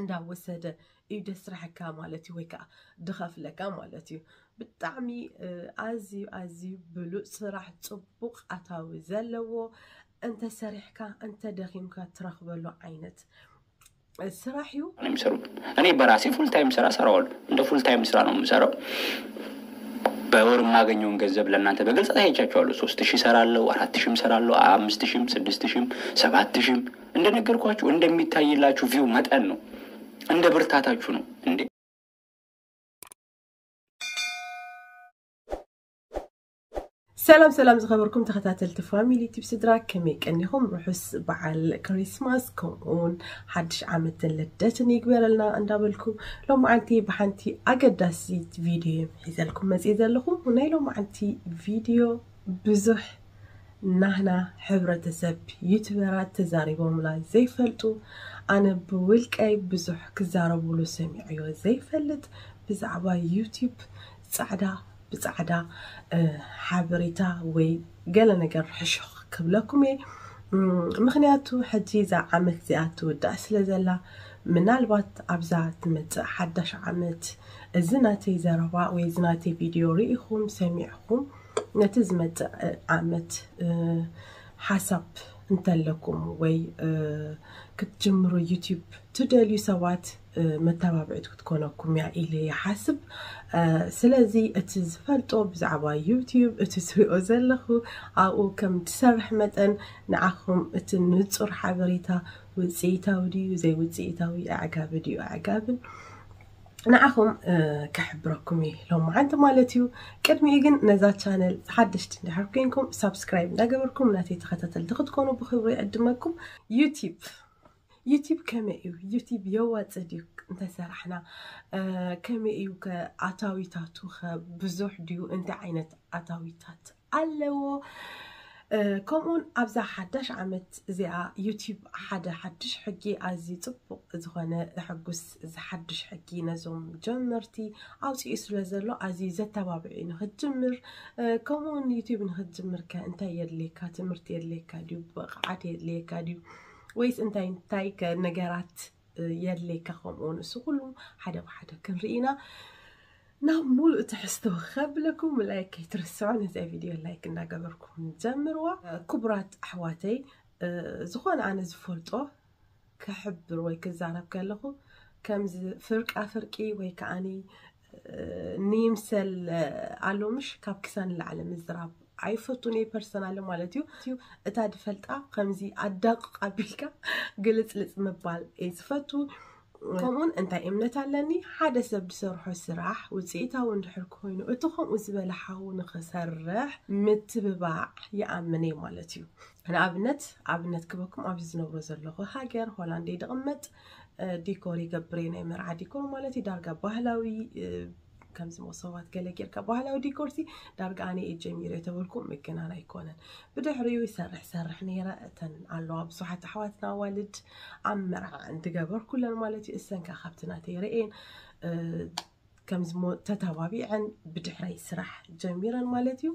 እንዳወሰደ እዩ ደስርሐካ ማለት እዩ፣ ወይ ከዓ ድኸፍለካ ማለት እዩ። ብጣዕሚ ኣዝዩ ኣዝዩ ብሉፅ ስራሕ፣ ፅቡቕ ኣታዊ ዘለዎ፣ እንተሰሪሕካ እንተደኺምካ ትረኽበሉ ዓይነት ስራሕ እዩ። የሚሰሩ እኔ በራሴ ፉል ታይም ስራ ሰራዋሉ። እንደ ፉል ታይም ስራ ነው የምሰራው። በወር የማገኘውን ገንዘብ ለእናንተ በግልጽ አሳይቻችኋለሁ። ሶስት ሺህ ሰራለሁ፣ አራት ሺህም ሰራለሁ፣ አምስት ሺህም፣ ስድስት ሺህም፣ ሰባት ሺህም። እንደነገርኳችሁ እንደሚታይላችሁ ቪው መጠን ነው፣ እንደ ብርታታችሁ ነው እንዴ። ሰላም ሰላም ዝኸበርኩም ተኸታተልቲ ፋሚሊ ቲፕ ስድራ፣ ከመይ ቀኒኹም? ርሑስ በዓል ክሪስማስ ከምኡውን ሓድሽ ዓመትን ልደትን ይግበረልና እንዳበልኩ፣ ሎማዓንቲ ብሓንቲ ኣገዳሲት ቪድዮ ሒዘልኩም መፅእ ዘለኹ። ናይ ሎማዓንቲ ቪድዮ ብዙሕ ናህና ሕብረተሰብ ዩቱበራት ተዛሪቦምላ ዘይፈልጡ፣ ኣነ ብውልቀይ ብዙሕ ክዛረቡሉ ሰሚዐዮ ዘይፈልጥ ብዛዕባ ዩቲዩብ ፃዕዳ ብፃዕዳ ሓበሬታ ወይ ገለ ነገር ሕሹኽ ክብለኩም እየ። ምክንያቱ ሕጂ እዛ ዓመት እዚኣ ትውዳእ ስለ ዘላ፣ ምናልባት ኣብዛ ትመፅእ ሓዳሽ ዓመት እዚ ናተይ ዘረባ ወይ እዚ ናተይ ቪድዮ ርኢኹም ሰሚዕኹም ነቲ ዝመፅእ ዓመት ሓሳብ እንተለኩም ወይ ክትጅምሩ ዩቲዩብ ትደልዩ ሰባት መተባብዒት ክትኮነኩም እያ ኢለ ይሓስብ። ስለዚ እቲ ዝፈልጦ ብዛዕባ ዩቲዩብ እቲ ትሪኦ ዘለኹ ኣብኡ ከም ትሰርሕ መጠን ንዓኹም እቲ ንጹር ሓበሬታ ውፅኢታዊ ድዩ ዘይውፅኢታዊ ኣዕጋቢ ድዩ ኣዕጋብን ንዓኹም ከሕብረኩም እዩ ሎማዓንቲ ማለት እዩ። ቅድሚኡ ግን ነዛ ቻነል ሓደሽቲ እንድሕር ኮይንኩም ሳብስክራይብ እንዳገበርኩም ናተይ ተኸታተልቲ ክትኮኑ ብክብሪ ይዕድመኩም። ዩቲዩብ ዩቲዩብ ከመይ እዩ? ዩቲዩብ የዋፅእ ድዩ እንተሰራሕና? ከመይ እዩ ከ ኣታዊታቱ ከ ብዙሕ ድዩ? እንታይ ዓይነት ኣታዊታት ኣለዎ? ከምኡውን ኣብዛ ሓዳሽ ዓመት እዚኣ ዩቲዩብ ሓደ ሓድሽ ሕጊ ኣዝዩ ፅቡቕ ዝኾነ ዘሐጉስ ሓድሽ ሕጊ ነዞም ጀመርቲ ኣውፅኡ ስለ ዘሎ ኣዝዩ ዘተባብዕ እዩ ንክትጅምር። ከምኡውን ዩቲዩብ ንክትጅምር ከ እንታይ የድልየካ? ትምህርቲ የድልየካ ድዩ? ብቕዓት የድልየካ ድዩ? ወይስ እንታይ እንታይ ከ ነገራት የድልየካ? ከምኡ ንሱ ኩሉ ሓደ ብሓደ ክንርኢ ኢና። ናብ ሙሉእ ትሕዝቶ ከብለኩም ላይክ ከይትርስዑ፣ ነዚኣ ቪድዮ ላይክ እንዳገበርኩም ጀምርዋ። ክቡራት ኣሕዋተይ፣ ዝኾነ ኣነ ዝፈልጦ ክሕብር ወይ ክዛረብ ከለኹ ከምዚ ፍርቃ ፍርቂ ወይ ከዓኒ ንይምሰል ኣሎ ምሽ ካብ ክሳን ንላዕሊ ምዝራብ ኣይፈቱን እየ ፐርሰናሊ ማለት እዩ። እታ ድፈልጣ ከምዚ ኣዳቕቕ ኣቢልካ ግልፅልፅ ምባል እየ ዝፈቱ። ከምኡውን እንታይ እምነት ኣለኒ ሓደ ሰብ ዝሰርሖ ስራሕ ውፅኢታዊ እንድሕር ኮይኑ እቲ ከምኡ ዝበለ ሓዉ ንክሰርሕ ምትብባዕ ይኣምን እየ ማለት እዩ። ንኣብነት ኣብነት ክበኩም ኣብዚ ዝነብሮ ዘለኹ ሃገር ሆላንድ እየ ድቕመጥ። ዲኮር ይገብር እየ ናይ መርዓ ዲኮር ማለት እዩ ዳርጋ ባህላዊ ከምዚ መሶባት ገለ ጌርካ ባህላዊ ዲኮርሲ ዳርጋ ኣነ እየ ጀሚረ ተበልኩ ምግናን ኣይኮነን። ብድሕሪኡ ይሰርሕ ሰርሕ ነይረ እተን ኣለዋ ብዙሓት ኣሕዋትና ኣዋልድ ኣብ መርዓ እንትገበርኩለን ማለት እዩ እሰንካ ካብቲ ናተይ ርእየን ከምዚ ተተባቢዐን ብድሕረይ ስራሕ ጀሚረን ማለት እዩ።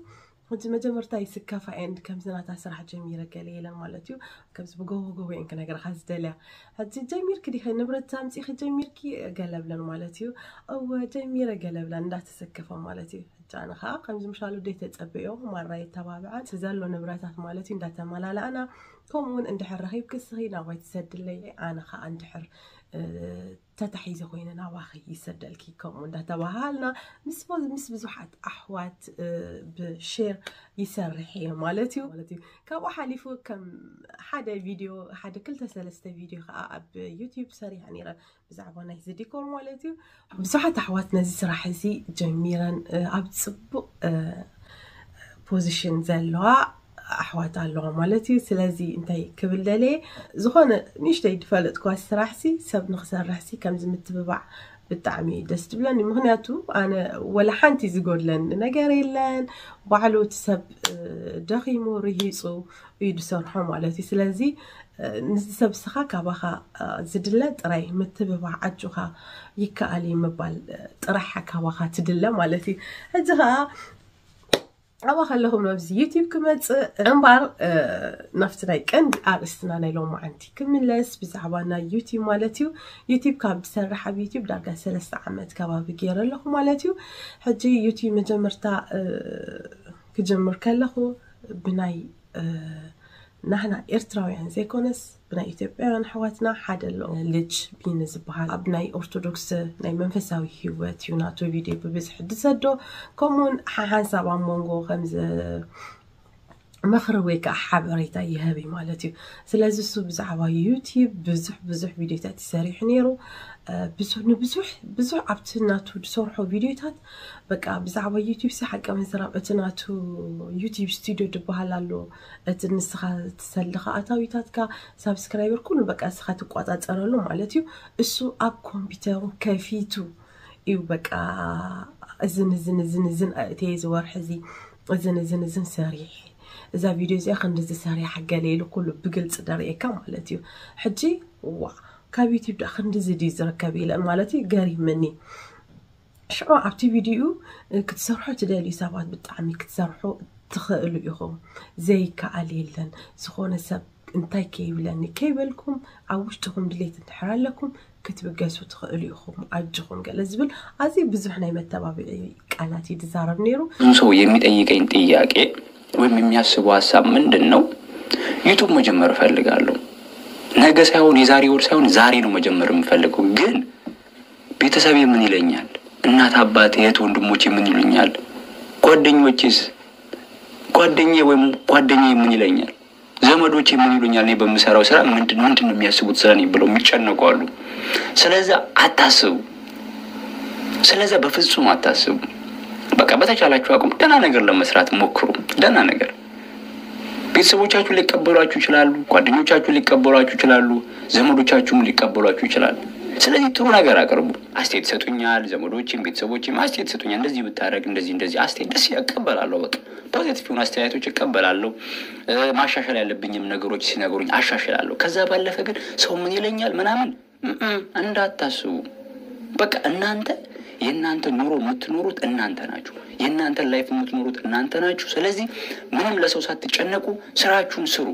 ሕጂ መጀመርታ ይስከፋ እየን ከምዚ ናታ ስራሕ ጀሚረ ገለ ኢለን ማለት እዩ። ከምዚ ብጎቦ ጎቦ እየን ክነግረኻ ዝደልያ። ሕጂ ጀሚርኪ ዲኸ ንብረት ኣምፂኺ ጀሚርኪ ገለብለን ማለት እዩ። እወ ጀሚረ ገለብለን እንዳተሰከፈ ማለት እዩ። ሕጂ ኣነ ከዓ ከምዚ ምሻሉ ደይ ተፀበዮ ማራ የተባብዐን እቲ ዘሎ ንብረታት ማለት እዩ እንዳተመላለኣና ከምኡውን እንድሕር ረኺብኪ እስኺ ናባይ ትሰድለይ ኣነ ከዓ እንድሕር ተታሒዘ ኮይነ ናባኺ ይሰደልኪ ከምኡ እንዳተባሃልና ምስ ምስ ብዙሓት ኣሕዋት ብሼር ይሰርሕ እየ ማለት እዩ ማለት እዩ። ካብኡ ሓሊፉ ከም ሓደ ቪድዮ ሓደ ክልተ ሰለስተ ቪድዮ ከዓ ኣብ ዩቲዩብ ሰሪሐ ነይረ ብዛዕባ ናይዚ ዲኮር ማለት እዩ። ብዙሓት ኣሕዋት ነዚ ስራሕ እዚ ጀሚረን ኣብ ፅቡቕ ፖዚሽን ዘለዋ ኣሕዋት ኣለዋ ማለት እዩ። ስለዚ እንታይ ክብል ደልየ ዝኾነ ንእሽተይ ዝፈለጥኳ ስራሕሲ ሰብ ንክሰርሕሲ ከምዚ ምትብባዕ ብጣዕሚ ደስ ትብለኒ። ምክንያቱ ኣነ ወላ ሓንቲ ዝጎድለኒ ነገር የለን። ባዕሉ እቲ ሰብ ደኺሙ ርሂፁ እዩ ዝሰርሖ ማለት እዩ። ስለዚ ንዚ ሰብ ስኻ ካባኻ ዝድለ ጥራይ ምትብባዕ ኣጆኻ ይከኣል እዩ ምባል ጥራሕ ካባኻ ትድለ ማለት እዩ። ሕጂ ከዓ ኣብኣ ከለኹ ናብዚ ዩቲብ ክመፅእ እምበር፣ ናብቲ ናይ ቀንዲ ኣርእስትና ናይ ሎማዓንቲ ክምለስ፣ ብዛዕባ ናይ ዩቲብ ማለት እዩ። ዩቲብ ካብ ዝሰርሕ ኣብ ዩቲብ ዳርጋ ሰለስተ ዓመት ከባቢ ገይረ ኣለኹ ማለት እዩ። ሕጂ ዩቲብ መጀመርታ ክጀምር ከለኹ ብናይ ናህና ኤርትራውያን ዘይኮነስ ብናይ ኢትዮጵያውያን ኣሕዋትና ሓደ ኣሎ፣ ልጅ ቢኒ ዝበሃል። ኣብ ናይ ኦርቶዶክስ ናይ መንፈሳዊ ህይወት እዩ ናቱ ቪድዮ ብብዝሒ ዝሰዶ። ከምኡውን ሓሓንሳብ ኣብ መንጎ ከም መኽሪ ወይ ከዓ ሓበሬታ ይህብ እዩ ማለት እዩ። ስለዚ እሱ ብዛዕባ ዩቲብ ብዙሕ ብዙሕ ቪድዮታት ይሰሪሑ ነይሩ። ብዙሕ ንብዙሕ ብዙሕ ኣብቲ ናቱ ዝሰርሖ ቪድዮታት በቃ ብዛዕባ ዩቲብ ሲ ሓቂ ምዝራብ፣ እቲ ናቱ ዩቲብ ስቱዲዮ ዝበሃል ኣሎ። እቲ ንስኻ ትሰልኻ ኣታዊታትካ ሳብስክራይበር ኩሉ በቃ እስኻ ትቆፃፀረሉ ማለት እዩ። እሱ ኣብ ኮምፒውተሩ ከፊቱ እዩ በቃ እዝን እዝን እዝን እዝን እቲ ዝወርሒ እዚ እዝን እዝን እዝን ሰሪሕ፣ እዛ ቪድዮ እዚኣ ክንድዚ ሰሪሓ ገለ ኢሉ ኩሉ ብግልፂ ደርእየካ ማለት እዩ። ሕጂ ዋ ካብ ዩቲብ ዳ ክንድዚ ድዩ ዝርከብ ኢለ ማለት እዩ ገሪምኒ። ሽዑ ኣብቲ ቪድዮ ክትሰርሑ ትደልዩ ሰባት ብጣዕሚ ክትሰርሑ ትኽእሉ ኢኹም። ዘይከኣል የለን። ዝኾነ ሰብ እንታይ ከይብለኒ ከይበልኩም ኣብ ውሽጥኹም ድሌት እንድሕር ኣለኩም ክትብገሱ ትኽእሉ ኢኹም። ኣጆኹም ገለ ዝብል ኣዝዩ ብዙሕ ናይ መተባብዒ ቃላት እዩ ዝዛረብ ነይሩ። ብዙ ሰው የሚጠይቀኝ ጥያቄ ወይም የሚያስበው ሀሳብ ምንድን ነው? ዩቱብ መጀመር እፈልጋለሁ። ነገ ሳይሆን የዛሬ ወር ሳይሆን ዛሬ ነው መጀመር የምፈልገው። ግን ቤተሰቤ ምን ይለኛል? እናት አባቴ፣ እህት ወንድሞቼ ምን ይሉኛል? ጓደኞቼስ ጓደኛዬ ወይም ጓደኛዬ ምን ይለኛል? ዘመዶቼ ምን ይሉኛል? እኔ በምሰራው ስራ ምንድን ምንድን ነው የሚያስቡት ስለኔ ብለው የሚጨነቁ አሉ። ስለዛ አታስቡ። ስለዛ በፍጹም አታስቡ። በቃ በተቻላችሁ አቅም ደህና ነገር ለመስራት ሞክሩ። ደህና ነገር ቤተሰቦቻችሁ ሊቀበሏችሁ ይችላሉ። ጓደኞቻችሁ ሊቀበሏችሁ ይችላሉ። ዘመዶቻችሁም ሊቀበሏችሁ ይችላሉ። ስለዚህ ጥሩ ነገር አቅርቡ። አስተያየት ይሰጡኛል ዘመዶችም ቤተሰቦችም አስተያየት ይሰጡኛል። እንደዚህ ብታደርግ እንደዚህ እንደዚህ አስተያየት ደስ እቀበላለሁ። በቃ ፖዚቲቭ የሆኑ አስተያየቶች እቀበላለሁ። ማሻሻል ያለብኝም ነገሮች ሲነግሩኝ አሻሽላለሁ። ከዛ ባለፈ ግን ሰው ምን ይለኛል ምናምን እንዳታስቡ። በቃ እናንተ የእናንተ ኑሮ የምትኖሩት እናንተ ናችሁ። የእናንተን ላይፍ የምትኖሩት እናንተ ናችሁ። ስለዚህ ምንም ለሰው ሳትጨነቁ ስራችሁን ስሩ።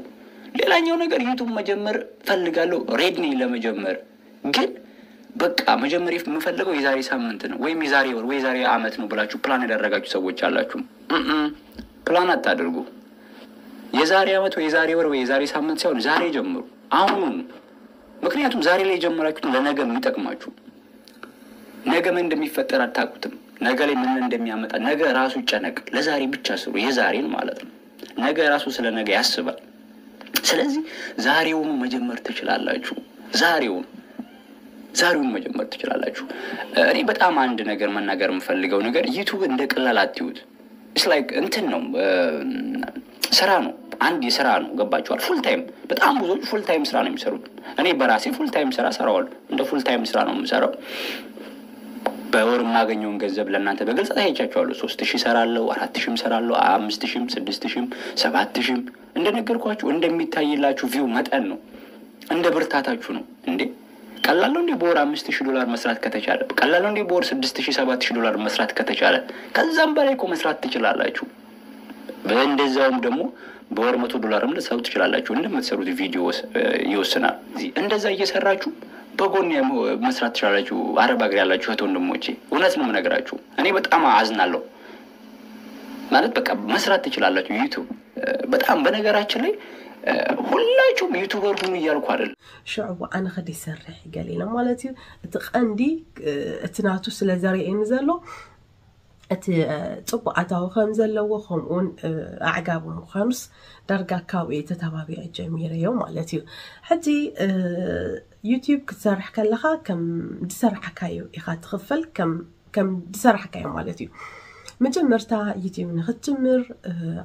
ሌላኛው ነገር ዩቱብ መጀመር ፈልጋለሁ፣ ሬዲ ነኝ ለመጀመር። ግን በቃ መጀመር የምፈልገው የዛሬ ሳምንት ነው ወይም የዛሬ ወር ወይ የዛሬ አመት ነው ብላችሁ ፕላን ያደረጋችሁ ሰዎች አላችሁ። ፕላን አታድርጉ። የዛሬ አመት ወይ የዛሬ ወር ወይ የዛሬ ሳምንት ሳይሆን ዛሬ ጀምሩ፣ አሁኑኑ። ምክንያቱም ዛሬ ላይ የጀመራችሁት ለነገ የሚጠቅማችሁ። ነገ ምን እንደሚፈጠር አታውቁትም። ነገ ላይ ምን እንደሚያመጣ ነገ ራሱ ይጨነቅ። ለዛሬ ብቻ ስሩ፣ የዛሬን ማለት ነው። ነገ ራሱ ስለ ነገ ያስባል። ስለዚህ ዛሬውኑ መጀመር ትችላላችሁ። ዛሬውን ዛሬውን መጀመር ትችላላችሁ። እኔ በጣም አንድ ነገር መናገር የምፈልገው ነገር ዩቱብ እንደ ቀላል አትዩት። ኢትስ ላይክ እንትን ነው፣ ስራ ነው። አንድ የስራ ነው። ገባችኋል? ፉል ታይም። በጣም ብዙዎች ፉል ታይም ስራ ነው የሚሰሩት። እኔ በራሴ ፉል ታይም ስራ ሰራዋለሁ። እንደ ፉል ታይም ስራ ነው የምሰራው። በወር የማገኘውን ገንዘብ ለእናንተ በግልጽ አሳይቻችኋለሁ። ሶስት ሺህ ሰራለሁ፣ አራት ሺህም ሰራለሁ፣ አምስት ሺህም፣ ስድስት ሺህም፣ ሰባት ሺህም። እንደነገርኳችሁ እንደሚታይላችሁ ቪው መጠን ነው፣ እንደ ብርታታችሁ ነው። እንዴ ቀላል ነው እንዴ? በወር አምስት ሺህ ዶላር መስራት ከተቻለ፣ ቀላል ነው እንዴ? በወር ስድስት ሺህ ሰባት ሺህ ዶላር መስራት ከተቻለ፣ ከዛም በላይ እኮ መስራት ትችላላችሁ። እንደዛውም ደግሞ በወር መቶ ዶላርም ልትሰሩ ትችላላችሁ። እንደምትሰሩት ቪዲዮ ይወስናል። እንደዛ እየሰራችሁ በጎን መስራት ትችላላችሁ። አረብ ሀገር ያላችሁ እህት ወንድሞቼ፣ እውነት ነው የምነግራችሁ። እኔ በጣም አዝናለሁ። ማለት በቃ መስራት ትችላላችሁ። ዩቱብ በጣም በነገራችን ላይ ሁላችሁም ዩቱበር ሁኑ እያልኩ አይደለም። ሽዑ ኣነ ኸደ ይሰርሕ ገለ ኢለ ማለት እዩ። እቲ ቀንዲ እቲ ናቱ ስለ ዘርእየኒ ዘሎ እቲ ፅቡቅ ኣታዊ ከም ዘለዎ ከምኡውን ኣዕጋቢ ምዃኑስ ዳርጋ ካብኡ ተተባቢዐ ጀሚረዮ ማለት እዩ። ሕጂ ዩቲዩብ ክትሰርሕ ከለኻ ከም ዝሰራሕካዮ ኢኻ ትኽፈል፣ ከም ከም ዝሰራሕካዮ ማለት እዩ። መጀመርታ ዩቲዩብ ንክትጅምር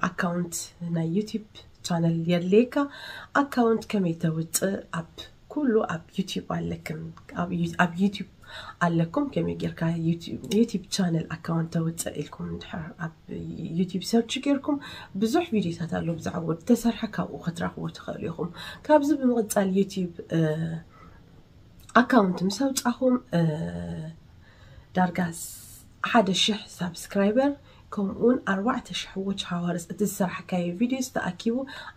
ኣካውንት ናይ ዩቲዩብ ቻነል የድልየካ። ኣካውንት ከመይ ተውፅእ ኣብ ኩሉ ኣብ ዩቲዩብ ኣለክም። ኣብ ዩቲዩብ ኣለኩም። ከመይ ጌርካ ዩቲዩብ ቻነል ኣካውንት ተውፅእ ኢልኩም እንድሕር ኣብ ዩቲዩብ ሰርች ጌርኩም ብዙሕ ቪዲዮታት ኣሎ ብዛዕባ ዝተሰርሐ ካብኡ ክትረኽቡ ትኽእሉ ኢኹም። ካብዚ ብምቕፃል ዩቲዩብ ኣካውንት ምስ ኣውፃኹም ዳርጋ ሓደ ሽሕ ሳብስክራይበር ከምኡውን ኣርባዕተ ሽሕ watch hours፣ እቲ ዝሰራሕካዮ ቪድዮስ ተኣኪቡ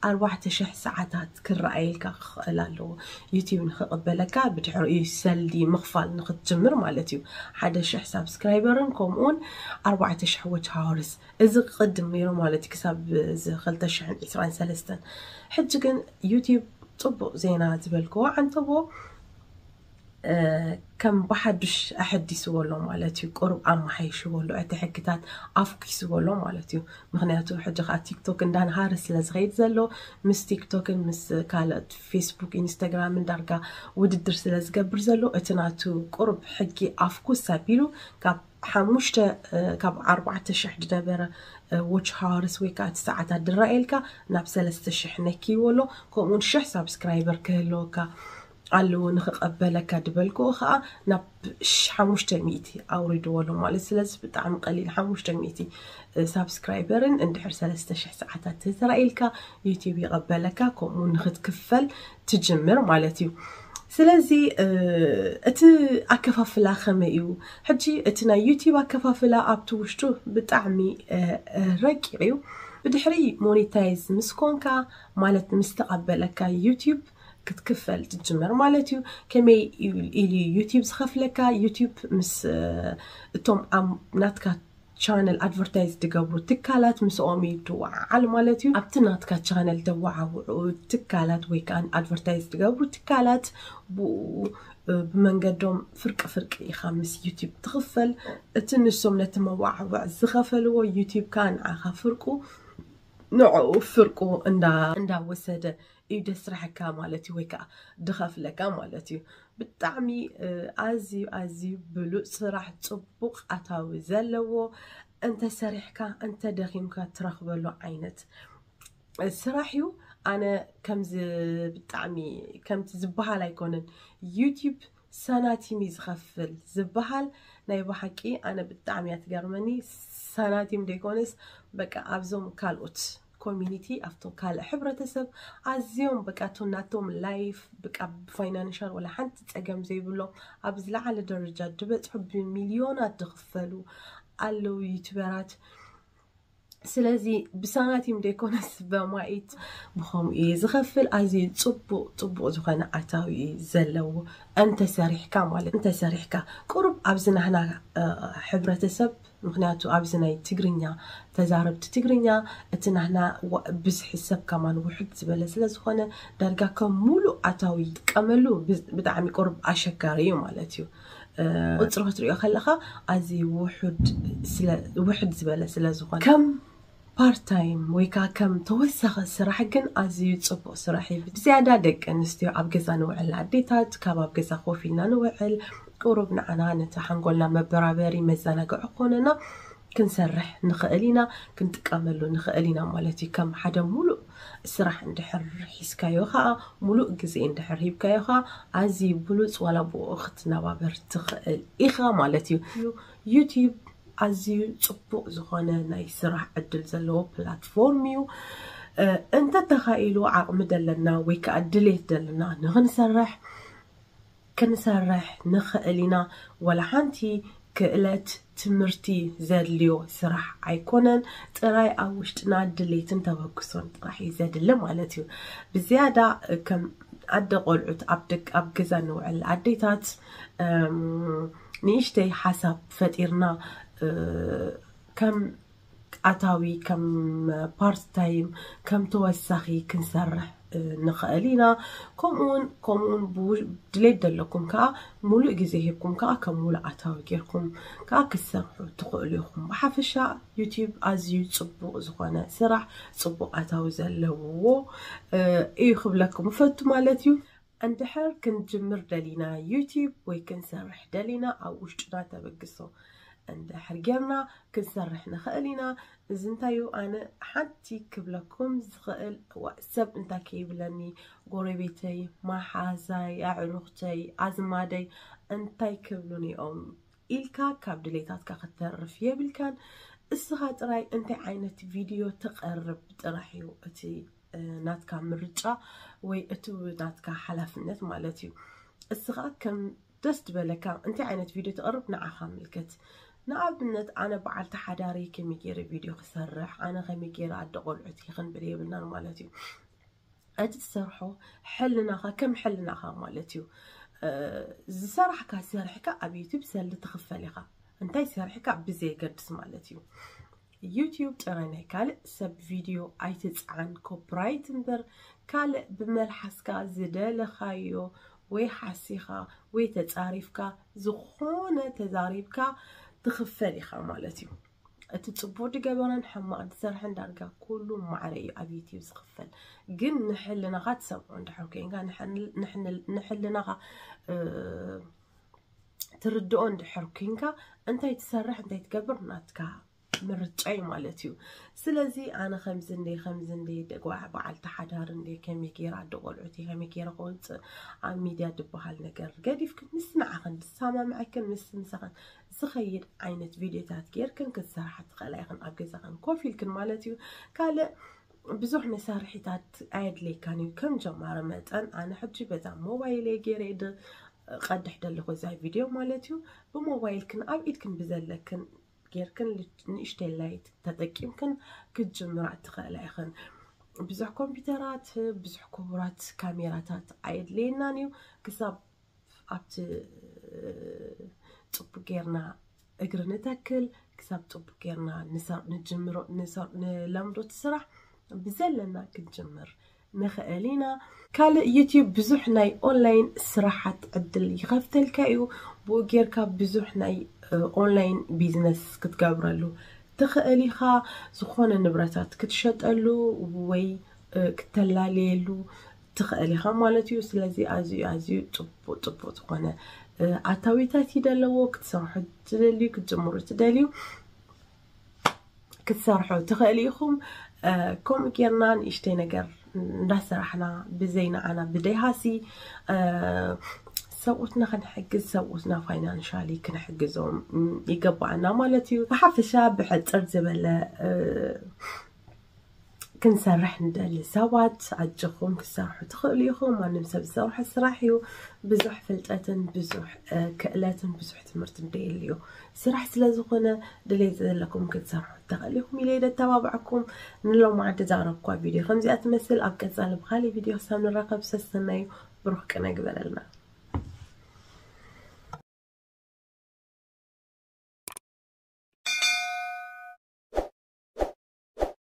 ኣርባዕተ ሽሕ ሰዓታት ክረኣየልካ ክኽእል ኣለዎ። ዩቲዩብ ንኽቕበለካ ብድሕሪኡ ሰልዲ ምኽፋል ንኽትጅምር ማለት እዩ። ሓደ ሽሕ ሳብስክራይበርን ከምኡውን ኣርባዕተ ሽሕ watch hours፣ እዚ ቅድም ነይሩ ማለት እዩ፣ ክሳብ እዚ ክልተ ሽሕን ዕስራን ሰለስተን። ሕጂ ግን ዩቲዩብ ጽቡቕ ዜና ዝበልክዎ ዓንተቦ ከም ብሓዱሽ ኣሐዲስዎ ኣሎ ማለት እዩ። ቁሩብ ኣመሓይሽዎ ኣሎ፣ እቲ ሕግታት ኣፍኪስዎ ኣሎ ማለት እዩ። ምክንያቱ ሕጂ ከዓ ቲክቶክ እንዳንሃረ ስለ ዝኸይድ ዘሎ፣ ምስ ቲክቶክን ምስ ካልኦት ፌስቡክ፣ ኢንስታግራምን ዳርጋ ውድድር ስለ ዝገብር ዘሎ፣ እቲ ናቱ ቁሩብ ሕጊ ኣፍኩስ ኣቢሉ ካብ ሓሙሽተ ካብ ኣርባዕተ ሽሕ ዝነበረ watch hours ወይ ከዓ እቲ ሰዓታት ድረኣየልካ ናብ ሰለስተ ሽሕ ነኪዎ ኣሎ። ከምኡውን ሽሕ ሳብስክራይበር ክህልወካ ኣለዎ። ንኽቐበለካ ድበልክዎ ከዓ ናብ ሓሙሽተ ሚእቲ ኣውሪድዎ ኣሎ ማለት። ስለዚ ብጣዕሚ ቀሊል፣ ሓሙሽተ ሚእቲ ሳብስክራይበርን እንድሕር ሰለስተ ሽሕ ሰዓታት ተተራኢልካ ዩቲዩብ ይቐበለካ፣ ከምኡ ንኽትክፈል ትጅምር ማለት እዩ። ስለዚ እቲ ኣከፋፍላ ከመይ እዩ? ሕጂ እቲ ናይ ዩቲዩብ ኣከፋፍላ ኣብቲ ውሽጡ ብጣዕሚ ረቂቕ እዩ። ብድሕሪ ሞኔታይዝ ምስ ኮንካ፣ ማለት ምስ ተቐበለካ ዩቲዩብ ክትክፈል ትጅምር ማለት እዩ። ከመይ ኢሉ ዩቲዩብ ዝኸፍለካ? ዩቲዩብ ምስ እቶም ናትካ ቻነል ኣድቨርታይዝ ዝገብሩ ትካላት ምስኦም እዩ ድወዓዓል ማለት እዩ። ኣብቲ ናትካ ቻነል ደወዓውዑ ትካላት ወይ ከዓ ኣድቨርታይዝ ዝገብሩ ትካላት ብኡ ብመንገዶም ፍርቂ ፍርቂ ኢኻ ምስ ዩቲዩብ ትኽፈል። እቲ ንሶም ነቲ መዋዕውዕ ዝኸፈልዎ ዩቲዩብ ከዓ ንዓኻ ፍርቁ ንዕኡ ፍርቁ እንዳወሰደ እዩ ደስራሕካ ማለት እዩ፣ ወይ ከዓ ድኸፍለካ ማለት እዩ። ብጣዕሚ ኣዝዩ ኣዝዩ ብሉፅ ስራሕ፣ ፅቡቕ ኣታዊ ዘለዎ፣ እንተሰሪሕካ እንተደኺምካ ትረኽበሉ ዓይነት ስራሕ እዩ። ኣነ ከምዚ ብጣዕሚ ከምቲ ዝበሃል ኣይኮነን። ዩቲዩብ ሳናቲም እዩ ዝኸፍል ዝበሃል። ናይ ብሓቂ ኣነ ብጣዕሚ እያ ትገርመኒ። ሳናቲም ደይኮነስ በቃ ኣብዞም ካልኦት ኮሚኒቲ፣ ኣብቶም ካልእ ሕብረተሰብ ኣዝዮም በቃ እቶም ናቶም ላይፍ በቃ ብፋይናንሻል ወላ ሓንቲ ፀገም ዘይብሎም ኣብ ዝለዓለ ደረጃ ዝበፅሑ ብሚልዮናት ዝኽፈሉ ኣለዉ ዩቱበራት። ስለዚ ብሳናቲም ደይኮነስ በማኢት ብኸምኡ እየ ዝኸፍል። ኣዝዩ ፅቡቕ ፅቡቕ ዝኾነ ኣታዊ እዩ ዘለዎ እንተሰሪሕካ ማለት እንተሰሪሕካ ቁሩብ ኣብዚ ናህና ሕብረተሰብ ምክንያቱ ኣብዚ ናይ ትግርኛ ተዛረብቲ ትግርኛ እቲ ናህና ብዝሒ ሰብ ከማን ውሕድ ዝበለ ስለ ዝኾነ ዳርጋ ከም ሙሉእ ኣታዊ ጥቀመሉ ብጣዕሚ ቁሩብ ኣሸጋሪ እዩ ማለት እዩ። ቁፅሪ ክትሪኦ ከለካ ኣዝዩ ውሕድ ዝበለ ስለ ዝኾነ ከም ፓርት ታይም ወይ ከዓ ከም ተወሳኺ ስራሕ ግን ኣዝዩ ፅቡቕ ስራሕ እዩ። ብዝያዳ ደቂ ኣንስትዮ ኣብ ገዛ ንውዕል ኣዴታት ካብ ኣብ ገዛ ኮፍ ኢልና ንውዕል ቁሩብ ንዓና ነቲ ሓንጎልና መበራበሪ መዘናግዒ ክኾነና ክንሰርሕ ንኽእል ኢና፣ ክንጥቀመሉ ንኽእል ኢና ማለት እዩ። ከም ሓደ ሙሉእ ስራሕ እንድሕር ሒዝካዮ ከዓ፣ ሙሉእ ግዜ እንድሕር ሂብካዮ ከዓ ኣዝዩ ብሉፅ ዋላ ብኡ ክትነባበር ትኽእል ኢኻ ማለት እዩ። ዩቲዩብ ኣዝዩ ፅቡቕ ዝኾነ ናይ ስራሕ ዕድል ዘለዎ ፕላትፎርም እዩ። እንተተኻኢሉ ዓቕሚ ደለና ወይ ከዓ ድሌት ደለና ንኽንሰርሕ ክንሰርሕ ንኽእል ኢና። ወላ ሓንቲ ክእለት ትምህርቲ ዘድልዮ ስራሕ ኣይኮነን። ጥራይ ኣብ ውሽጥና ድሌትን ተበግሶን ጥራሕ እዩ ዘድሊ ማለት እዩ። ብዝያዳ ከም ኣደ ቆልዑት ኣብ ደቅ ኣብ ገዛ ንውዕል ኣዴታት ንእሽተይ ሓሳብ ፈጢርና ከም ኣታዊ ከም ፓርት ታይም ከም ተወሳኺ ክንሰርሕ ንኽእል ኢና። ከምኡውን ከምኡውን ድሌት ዘለኩም ከዓ ሙሉእ ግዜ ሂብኩም ከዓ ከም ሙሉእ ኣታዊ ጌርኩም ከዓ ክትሰርሑ ትኽእሉ ኢኹም። ብሓፈሻ ዩቲዩብ ኣዝዩ ፅቡቕ ዝኾነ ስራሕ፣ ፅቡቕ ኣታዊ ዘለዎ እዩ ክብለኩም እፈቱ ማለት እዩ። እንድሕር ክንጅምር ደሊና ዩቲዩብ ወይ ክንሰርሕ ደሊና ኣብ ውሽጥና ተበግሶ እንድሕር ጌርና ክንሰርሕ ንኽእል ኢና። እዚ እንታይ እዩ? ኣነ ሓንቲ ክብለኩም ዝኽእል ሰብ እንታይ ከይብለኒ፣ ጎረቤተይ፣ መሓዛይ፣ ኣዕሩኽተይ፣ ኣዝማደይ እንታይ ክብሉኒ እዮም ኢልካ ካብ ድሌታትካ ክተርፍ የብልካን። እስኻ ጥራይ እንታይ ዓይነት ቪድዮ ተቐርብ ጥራሕ እዩ እቲ ናትካ ምርጫ ወይ እቲ ናትካ ሓላፍነት ማለት እዩ። እስኻ ከም ደስ ዝበለካ እንታይ ዓይነት ቪድዮ ተቕርብ ንዓኻ ምልከት። ንኣብነት ኣነ በዓልቲ ሓዳሪ ከመይ ገይረ ቪድዮ ክሰርሕ፣ ኣነ ከመይ ገይረ ኣደ ቆልዑት ይኽንብል የብልናን ማለት እዩ። እቲ ትሰርሖ ሕልናኻ ከም ሕልናኻ ማለት እዩ። ዝሰራሕካ ሰርሕካ ኣብ ዩቲብ ሰልዲ ትኽፈል ኢኻ። እንታይ ሰርሕካ ብዘየገድስ ማለት እዩ። ዩቲብ ጥራይ ናይ ካልእ ሰብ ቪድዮ ኣይትፅዓን። ኮፕራይት እምበር ካልእ ብመልሓስካ ዝደለኻዮ ወይ ሓሲኻ ወይ ተፃሪፍካ ዝኾነ ተዛሪብካ ትኽፈል ኢኻ ማለት እዩ። እቲ ፅቡቅ ዝገበረን ሕማቅ ዝሰርሐን ዳርጋ ኩሉ ማዕረ እዩ ኣብ ዩቲብ ዝኽፈል። ግን ንሕልናኻ ትሰምዖ እንድሕር ኮይንካ፣ ንሕልናኻ ትርድኦ እንድሕር ኮይንካ፣ እንታይ ትሰርሕ እንታይ ትገብር ናትካ ምርጫ እዩ ማለት እዩ። ስለዚ ኣነ ከምዚ እንደ ከምዚ እንደ ደጓዕ በዓልቲ ሓዳር እንደ ከመይ ገይራ ኣደ ቆልዑት ከመይ ገይረ ክወፅእ ኣብ ሚድያ ዝበሃል ነገር ገዲፍክን ምስ ንዓኽን ዝሰማምዐክን ምስ ምሳኽን ዝኸይድ ዓይነት ቪድዮታት ጌርክን ክትሰርሓ ትኽእላ ኢኽን ኣብ ገዛኽን ኮፍ ኢልክን ማለት እዩ። ካልእ ብዙሕ መሳርሒታት ኣየድልየካን እዩ። ከም ጀማሪ መጠን ኣነ ሕጂ በዛ ሞባይል እየ ገይረ ድ ቀድሕ ደለኹ እዛ ቪድዮ ማለት እዩ። ብሞባይልክን ኣብ ኢድክን ብዘለክን ጌርክን ንእሽተይ ላይት ተጠቂምክን ክትጅምራ ትኽእላ ኢኽን። ብዙሕ ኮምፒውተራት ብዙሕ ክቡራት ካሜራታት ኣየድልየናን እዩ። ክሳብ ኣብቲ ፅቡቅ ጌርና እግሪ ንተክል፣ ክሳብ ፅቡቅ ጌርና ንጀምሮ ንለምዶ እቲ ስራሕ ብዘለና ክንጅምር ንኽእል ኢና። ካልእ ዩቲብ ብዙሕ ናይ ኦንላይን ስራሓት ዕድል ይኸፍተልካ እዩ። ብኡ ጌርካ ብዙሕ ናይ ኦንላይን ቢዝነስ ክትገብረሉ ትኽእል ኢኻ። ዝኾነ ንብረታት ክትሸጠሉ ወይ ክተላለየሉ ትኽእል ኢኻ ማለት እዩ። ስለዚ ኣዝዩ ኣዝዩ ፅቡቅ ፅቡቅ ዝኾነ ኣታዊታት እዩ ደለዎ። ክትሰርሑ ትደልዩ ክትጀምሩ ትደልዩ ክትሰርሑ ትኽእል ኢኹም። ከምኡ ጌርና ንእሽተይ ነገር እንዳሰራሕና ብዘይ ንዓና ብደይ ሃሲ ሰብኡትና ክንሕግዝ ሰብኡትና ፋይናንሻሊ ክንሕግዞም ይገባኣና ማለት እዩ። ብሓፈሻ ብሕፅር ዝበለ ክንሰርሕ ንደሊ ሰባት ኣጆኹም ክትሰርሑ ትኽእሉ ኢኹም። ማንም ሰብ ዝሰርሖ ስራሕ እዩ። ብዙሕ ፍልጠትን ብዙሕ ክእለትን ብዙሕ ትምህርቲ እንደየልዩ ስራሕ ስለ ዝኾነ ድሌት ዘለኩም ክትሰርሑ ትኽእሉ ኢኹም ኢለ ደተባብዐኩም። ንሎማዓንቲ ዛረብኳ ቪድዮ ከምዚኣ ትመስል። ኣብ ቀፃሊ ብካሊእ ቪድዮ ክሳብ ንራኸብ ሰሰናዩ ብሩኽ ቅነ ግበረልና።